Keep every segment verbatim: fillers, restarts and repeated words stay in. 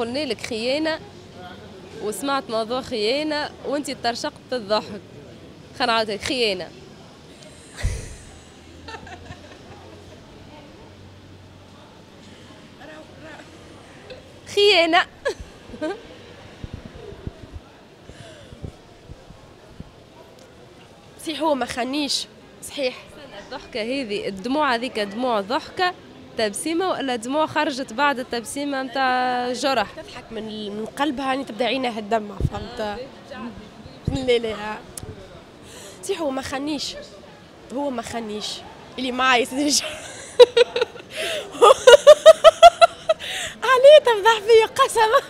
قلنا لك خيانة وسمعت موضوع خيانة وانت ترشقت بالضحك. خلينا نعاودها، خيانة. خيانة. صحيح هو ما خانيش، صحيح. الضحكة هذه، الدموع هذيك دموع ضحكة تبسيمة ولا دموع خرجت بعد التبسيمة نتاع جرح؟ تضحك من من قلبها يعني تبدا عينها تدمع، فهمت؟ لا لا صحيح هو ما خانيش، هو ما خانيش اللي معايا سيدي. عليه تفضح فيا قسما.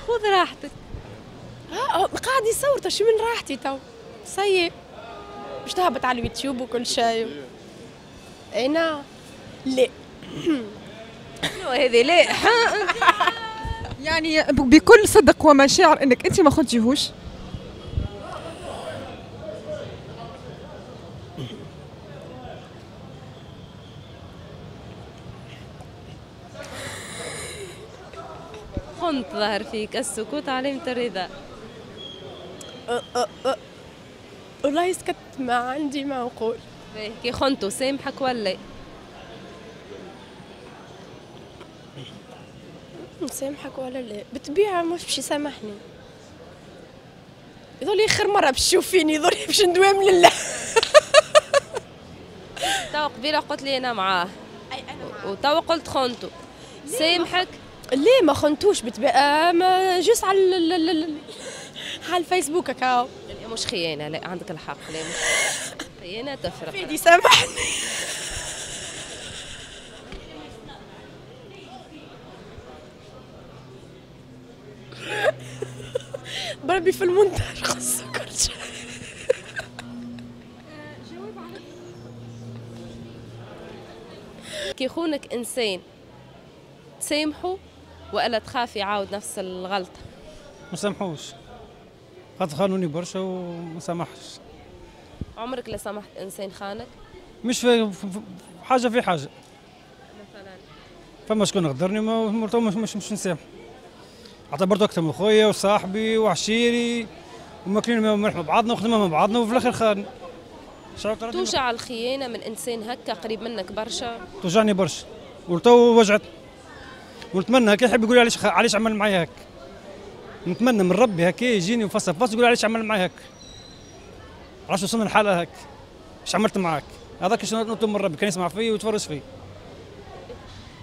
خذ راحتك. اه قاعد يصور تو، شو من راحتي تو؟ سيء باش تهبط على اليوتيوب وكل شيء. انا لا. شنو هذه لا؟ يعني بكل صدق ومشاعر انك انت ما خنتيهوش؟ خنت ظهر فيك السكوت علامة الرضا. أه أه أه. والله سكت، ما عندي ما نقول. كي خنتو سامحك ولا؟ نسامحك ولا لا؟ بالطبيعة مش باش يسامحني. يظل آخر مرة باش تشوفيني، يظل باش ندوام لله. تو قبيلة قلت لي أنا معاه. أي أنا معاه. وتو قلت خنتو. سامحك؟ ليه ما خنتوش؟ بالطبيعة ما juste على على الفيسبوك هكاو. مش خيانة، لا عندك الحق، لا مش خيانة تفرق. فيدي سامحني. بربي في المونتاج خصو كل شيء. كي يخونك انسان تسامحه والا تخاف يعاود نفس الغلطة؟ ما سامحوش، خاطر خانوني برشا وما سامحش. عمرك لا سامحت انسان خانك؟ مش في حاجة في حاجة. مثلا فما شكون غدرني ما مش مش, مش نسامح. اعتبرته اكثر من خويا وصاحبي وعشيري وماكلين ملح مع بعضنا وخدمنا مع بعضنا وفي الاخر خان. توجع الخيانة من انسان هكا قريب منك برشا؟ توجعني برشا ولتو وجعت، ونتمنى هكا يحب يقول علاش علاش عمل معايا هكا. نتمنى من ربي هكا يجيني وفصل فصل يقول علاش عمل معايا هكا، علاش وصلنا لحاله هكا، اش عملت معاك؟ هذاك شنو نطلب من ربي، كان يسمع فيا ويتفرج فيا.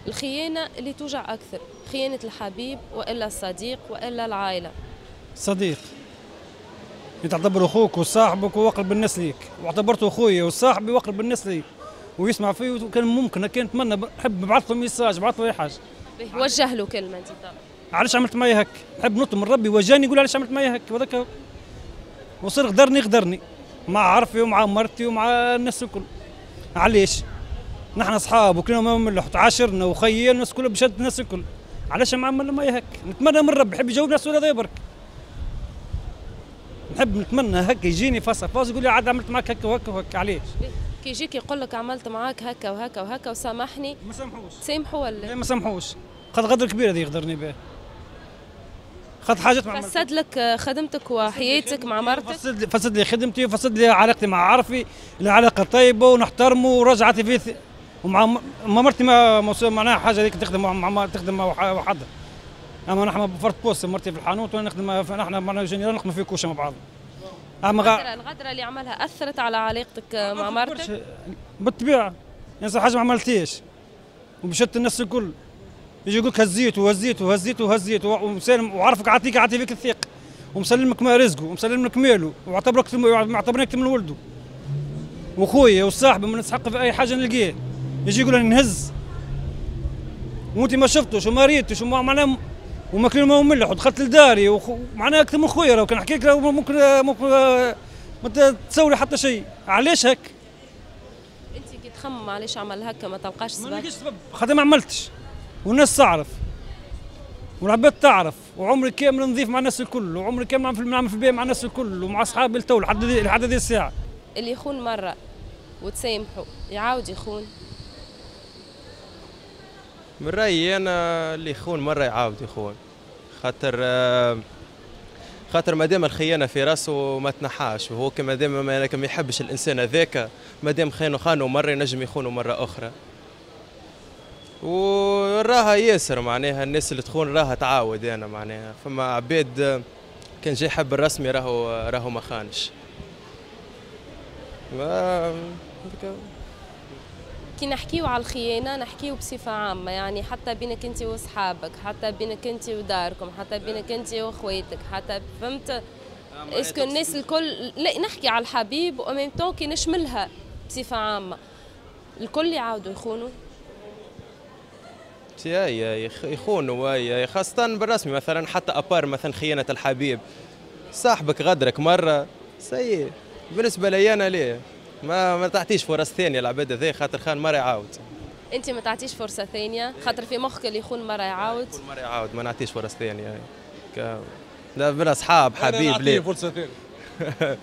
الخيانة اللي توجع اكثر، خيانة الحبيب والا الصديق والا العائلة؟ الصديق. انت تعتبره اخوك وصاحبك واقرب الناس ليك، واعتبرته اخويا وصاحبي واقرب الناس ليك ويسمع فيه، وكان ممكن كان نتمنى نحب نبعث له message، نبعث له اي حاجة. وجه له كلمة انت طبعا. علاش عملت معايا هك؟ نحب نطلب من ربي وجاني يقول علاش عملت معايا هك، وهذاك وصير غدرني غدرني مع عرفي ومع مرتي ومع الناس الكل. علاش؟ نحن اصحاب وكلنا ما ملح وتعاشرنا وخينا الناس كلها بشد الناس الكل، علاش ما عمل معايا هك؟ نتمنى من ربي يحب يجاوبنا السؤال هذا برك. نحب نتمنى هكا يجيني face à face يقول لي عاد عملت معاك هكا وهكا وهكا، علاش؟ كي يجيك يقول لك عملت معاك هكا وهكا وهكا وسامحني، ما سامحوش. تسامحوا ولا؟ لا ما سامحوش، خاطر غدر كبير هذا يغدرني به. خاطر حاجات ما فسد لك خدمتك وحياتك مع مرتك؟ فسد فسد لي خدمتي وفسد لي علاقتي مع عرفي، العلاقة طيبة ونحترمه ورجعت فيه ومع مرتي ما معناها حاجة هذيك تخدم مع تخدم وحدها. اما نحن فرد poste، مرتي في الحانوت وانا نخدم، نحن معناها général نخدم في كوشة مع بعض. اما الغدره الغدره اللي عملها اثرت على علاقتك مع مرتك؟ بالطبيعة، يعني حاجة ما عملتيش ومشت الناس الكل يجي يقول لك هزيت وهزيت وهزيت وهزيت ومسالم وعرفك عاطيك عاطي فيك الثقة ومسلمك ما رزقه ومسلم لك ماله واعتبرك معتبرك من ولده وخويا وصاحبي ما نسحق في اي حاجة نلقيه، يجي يقول انا نهز وانت ما شفتوش وما ريتوش وما معناها وماكلين ما ملح ودخلت لداري ومعناها اكثر من خويا، لو كان نحكي لك ممكن ممكن ما تسوي حتى شيء. علاش هك؟ انت كي تخمم علاش عمل هكا ما تلقاش سبب؟ ما نلقاش سبب خاطر ما عملتش والناس تعرف والعباد تعرف، وعمري كامل نظيف مع الناس الكل، وعمري كامل نعمل في البيع مع الناس الكل ومع اصحابي التو لحد لحد هذه الساعة. اللي يخون مرة وتسامحه يعاود يخون؟ من رايي انا اللي يخون مرة يعاود يخون، خاطر خاطر مادام الخيانة في راسه ما تنحاش، وهو كما دام ما يحبش الانسان هذاك، مادام خانه خانه مرة ينجم يخونه مرة اخرى. وراها ياسر معناها الناس اللي تخون راها تعاود. انا معناها فما عباد كان جاي يحب الرسمي راهو راهو ما خانش. ما كي نحكيو على الخيانة نحكيو بصفة عامة، يعني حتى بينك انت وصحابك، حتى بينك انت وداركم، حتى بينك انت واخواتك، حتى فهمت؟ est-ce que الناس الكل، لا نحكي على الحبيب و même temps كي نشملها بصفة عامة الكل يعاودوا يخونوا. اي يخونوا، خاصة بالرسمي مثلا، حتى à part مثلا خيانة الحبيب، صاحبك غدرك مرة سيء بالنسبة لي انا، ليه ما ما تعطيش فرص ثانية العباد هذا، خاطر خان مرة يعاود. انت ما تعطيش فرصة ثانية خاطر في مخك اللي يخون مرة يعاود؟ يخون مرة يعاود، ما نعطيش فرص ثانية. ك... لا بين اصحاب حبيب ليه فرصة ثانية؟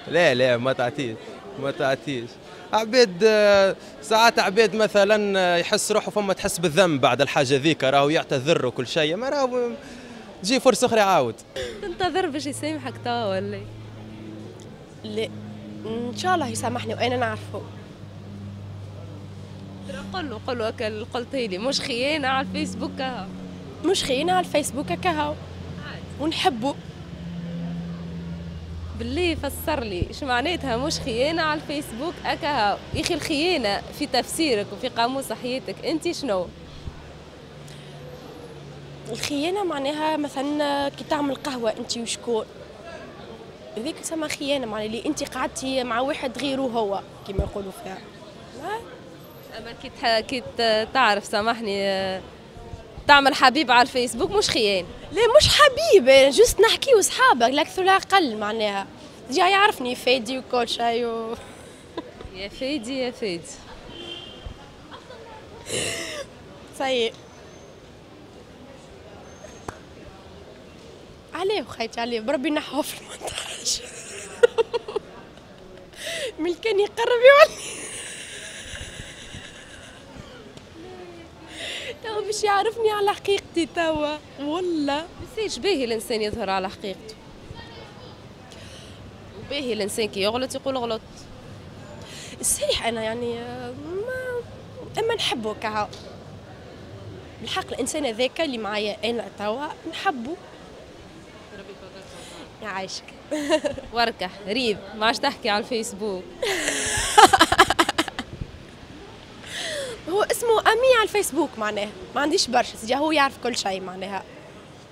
لا لا ما تعطيش، ما تعطيش. عباد ساعات عباد مثلا يحس روحه فما تحس بالذنب بعد الحاجة ذيك، راهو يعتذر وكل شيء، ما راهو تجي فرصة اخرى يعاود. تنتظر باش يسامحك توا ولا لا؟ ان شاء الله يسامحني وانا نعرفه. قل له قل له هكا قلتي لي مش خيانة على الفيسبوك كهو. مش خيانة على الفيسبوك كهو ونحبه. بالله فسر لي ايش معناتها مش خيانة على الفيسبوك اكاهو؟ يا اخي الخيانة في تفسيرك وفي قاموس حياتك انت شنو؟ الخيانة معناها مثلا كي تعمل قهوة انت وشكون، هذيك تسمى خيانة، معناها اللي انت قعدتي مع واحد غيره هو كما يقولوا فيها. اما كي كي تعرف سامحني تعمل حبيب على الفيسبوك مش خيانة؟ لا مش حبيب، juste نحكيو صحابك لا اكثر لا اقل، معناها déjà يعرفني فادي وكل شيء و... يا فادي يا فادي صحيح. عليه وخيتي عليه بربي نحوه في المونتاج. من كان يقرب يولي توا باش يعرفني على حقيقتي توا. والله ميساج باهي الانسان يظهر على حقيقته، وباهي الانسان كي يغلط يقول غلط. صحيح انا يعني ما اما نحبه كهو بالحق، الانسان هذاك اللي معايا انا توا نحبه. يعيشك. وركح ريب ما عادش تحكي على الفيسبوك. هو اسمه ami على الفيسبوك، معناها ما عنديش برشا سيدي، هو يعرف كل شيء معناها.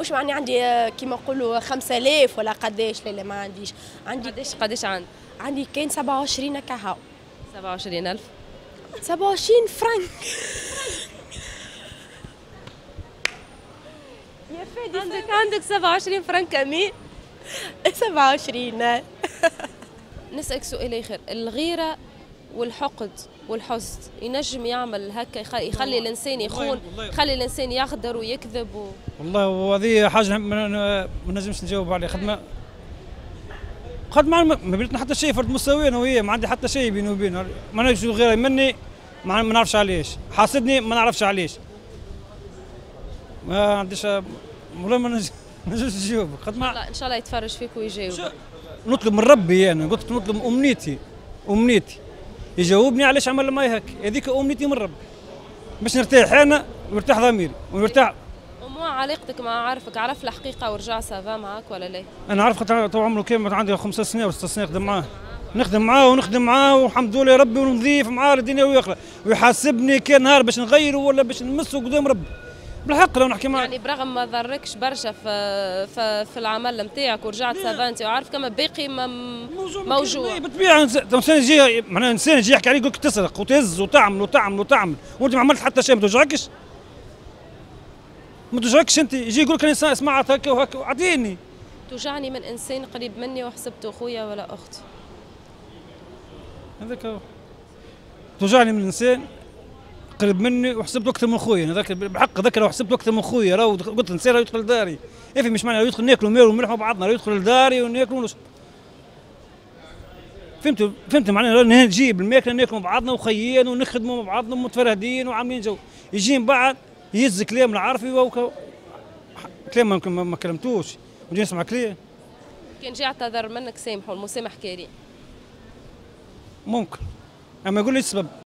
مش معني عندي كيما نقولوا خمسة آلاف ولا قداش، لا لا ما عنديش. عندي قداش؟ قداش عندك؟ عندي كان سبعة وعشرين كهو. سبعة وعشرين ألف؟ سبعة وعشرين فرنك. يا فادي عندك عندك سبعة وعشرين فرنك ami؟ سبعة وعشرين. نسألك سؤال آخر، الغيرة والحقد والحسد ينجم يعمل هكا يخلي, يخلي الانسان يخون، يخلي الانسان يغدر ويكذب و... والله وهذه حاجة ما نجمش نجاوب عليها. خدمة خدمة ما بيناتنا حتى شيء، فرد مستوى انا وهي، ما عندي حتى شيء بيني وبينه. ما نعرفش غيره مني، ما نعرفش علاش حاسدني، ما نعرفش علاش، ما عنديش والله ما نجمش نجاوبك. خدمة ان شاء الله يتفرج فيك ويجاوب. نطلب من ربي، انا قلت نطلب امنيتي، امنيتي يجاوبني علاش عمل معايا هكا، هذيك امنيتي من ربي باش نرتاح انا ويرتاح ضميري ونرتاح. ومو علاقتك مع عارفك، عرف الحقيقة ورجع ça va معاك ولا لا؟ انا عارف خاطر طول عمره كامل عندي خمس سنين ولا ست سنين نخدم معاه، نخدم معاه ونخدم معاه والحمد لله ربي، ونضيف معاه الدنيا ويخلق ويحاسبني كان نهار باش نغيره ولا باش نمسه قدام ربي. بالحق لو نحكي معاك يعني برغم ما ضركش برشا في في, في العمل نتاعك ورجعت ça va انت وعارف كما باقي موجوع. بالطبيعة انسان يجي معناها انسان يجي يحكي عليك يقول لك تسرق وتهز وتعمل وتعمل وتعمل وانت ما عملت حتى شيء، ما توجعكش؟ ما توجعكش انت؟ يجي يقول لك انا سمعت هكا وهكا اعطيني. توجعني من انسان قريب مني وحسبته خويا ولا اختي. هذاك هو. توجعني من انسان قريب مني وحسبته اكثر من خويا، هذاك بالحق ذكر وحسبته اكثر من خويا، راهو قلت نسير يدخل لداري، إيه مش معنى يدخل ناكلوا مال وملح مع بعضنا، يدخل لداري وناكلوا ونشرب. فهمت فهمت معناها نجيب الماكلة ناكلوا مع بعضنا وخيين ونخدموا مع بعضنا ومتفرهدين وعاملين جو، يجي من بعد يهز كلام العرفي وك... كلام ما, ما كلمتوش ونجي نسمع كلام. كان جاي اعتذر منك سامحوا، المسامح كريم. ممكن، اما يقول لي السبب.